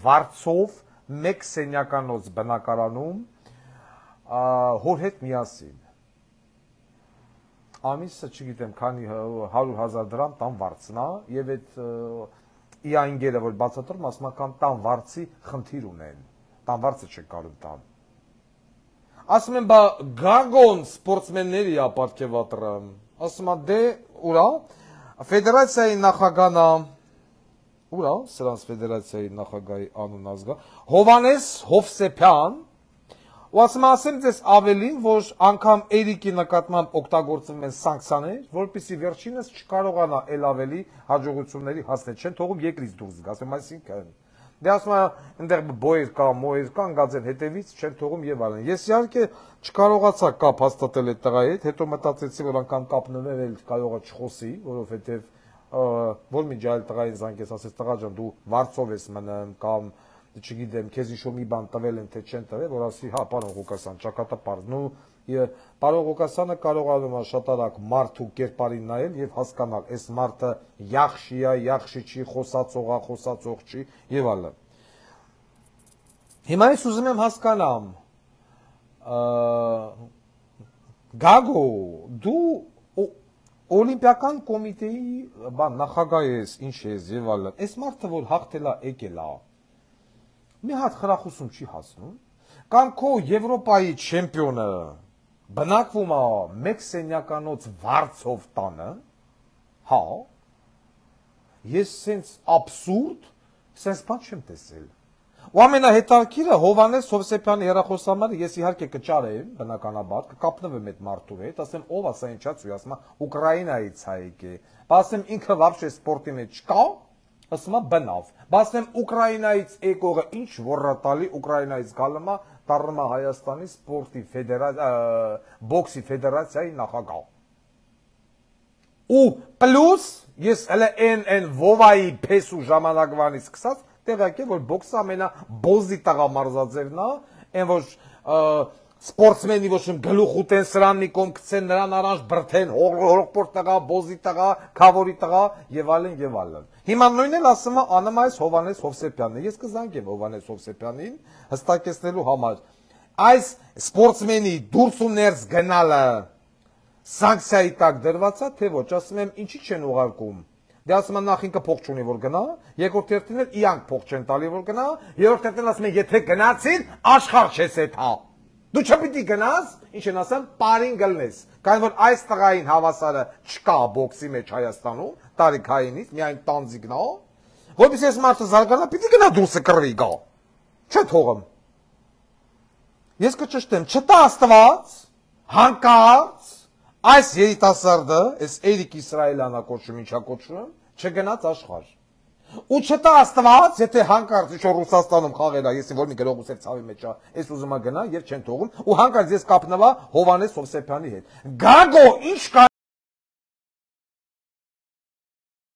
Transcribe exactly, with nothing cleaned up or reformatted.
վարձով մեկ սենյականոց բնակարանում հոր հետ միասին։ Ամիսը չգիտեմ քանի հարյուր հազար դրամ տան վարձնա եւ այդ իանգերը որ բացատրում ասում ական տան վարձի խնդիր ունեն։ Տան վարձը չեն կարող տան։ Ասում են բա գագոն սպորտսմենների է ապարգևատրան։ Ասում են դե ուրա ֆեդերացիայի նախագահնա ուրա սրանց ֆեդերացիայի նախագահի անուն ազգա Հովանես Հովսեփյան ու ասում ասեմ ձեզ ավելին, որ անգամ Էրիկի նկատմամբ օգտագործվում են սանկցիաներ, որպեսզի վերջինս չկարողանա ել ավելի հաջողությունների հասնել, չեն թողում երկրից դուրս գա, ասում այսինքն դե ասում այնտեղ բոյեր կա, մոյեր կա, ընկած են հետևից, չեն թողում եւ այլն։ Ես իհարկե չկարողացա կապ հաստատել այդ տղայի հետ, հետո մտածեցի, որ անգամ կապնվել էլ կարող է չխոսի, որովհետեւ որ մի ջայլ տղային զանգես, ասես տղա ջան, դու վարձով ես մնում կամ չգիտեմ, քեզ ինչ-որ մի բան տվել են, թե չեն տվել, որ ասի, հա, պարոն Ղուկասյան, ճակատը պարզ, նու, պարոն Ղուկասյանը կարողանում է շատ արագ մարդու կերպարին նայել եւ հասկանալ, այս մարդը յախշի է, յախշի չի, խոսածող է, խոսածող չի եւ այլն։ Հիմա ես ուզում եմ հասկանամ, Գագո, դու Օլիմպիական կոմիտեի բան նախագահ ես, ինչ ես եւ այլն, այս մարդը որ հաղթել է, եկել է մի հատ խրախուսում չի հասնում, կամ քո Եվրոպայի չեմպիոնը բնակվում է մեկ սենյականոց վարձով տանը, հա, ես սենց աբսուրդ, սենց բան չեմ տեսել։ Ու ամենահետաքրքիրը Հովանես Հովսեփյանի հեռախոսահամարը ես իհարկե կճարեմ, բնականաբար, կկապնվեմ այդ մարդու հետ, ասեմ ով է սա ինչա ծույլ, ասում է Ուկրաինայից է եկել, ասեմ ինքը вообще սպորտի մեջ չկա, ասում է բնավ, ասեմ Ուկրաինայից եկողը ինչ ոռատալի Ուկրաինայից գալում է, դառնում է Հայաստանի սպորտի բոքսի ֆեդերացիայի նախագահ։ Ու պլյուս ես հələ այն այն Վովայի փեսու ժամանակվանից սկսած տեղյակ եմ, որ բոքսը ամենաբոզի տղամարզաձևն է, այն որ սպորտսմենի ոչ իմ գլուխ ուտեն սրաննի կոմ գցեն նրան առանց բրթեն հողորոպորտ տղա, բոզի տղա, քավորի տղա եւ այլն եւ այլն։ Հիմա նույնն էլ ասում է անում այս Հովանես Հովսեփյանն։ Ես կզանգեմ Հովանես Հովսեփյանին հստակեցնելու համար։ Այս սպորտսմենի դուրս ու ներս գնալը սանկցիայի տակ դրված է, թե ոչ, ասում եմ ինչի չեն ուղարկում։ Դե ասում են նախ ինքը փող չունի որ գնա, երկրորդ հերթին էլ իրանք փող չեն տալի որ գնա, երրորդ հերթին ասում են եթե գնացին, աշխարհ չես հետ հա։ Դու չպիտի գնաս, ինչ են ասեմ, պարին գլնես, քանի որ այս տղային հավասարը չկա բոքսի մեջ Հայաստանում, տարիքայինից, միայն տանձիկն է, որպես ես մարդը զարգանա, պիտի գնա դուրսը կռվի գա, չէ թողım։ Ես կճշտեմ, չտա Աստված, հանկարծ, այս երիտասարդը, այս Էրիկ Իսրայելյանը կոչում, ինչա կոչում, չգնաց աշխարհ։ Ու չտա Աստված, եթե հանկարծ ինչ-որ Ռուսաստանում խաղել է, ես որ մի գրող ուսեր ցավի մեջ է, ես ուզում եմ գնա եւ չեն թողում, ու հանկարծ ես կապնվա Հովանես Հովսեփյանի հետ։ Գագո, ինչ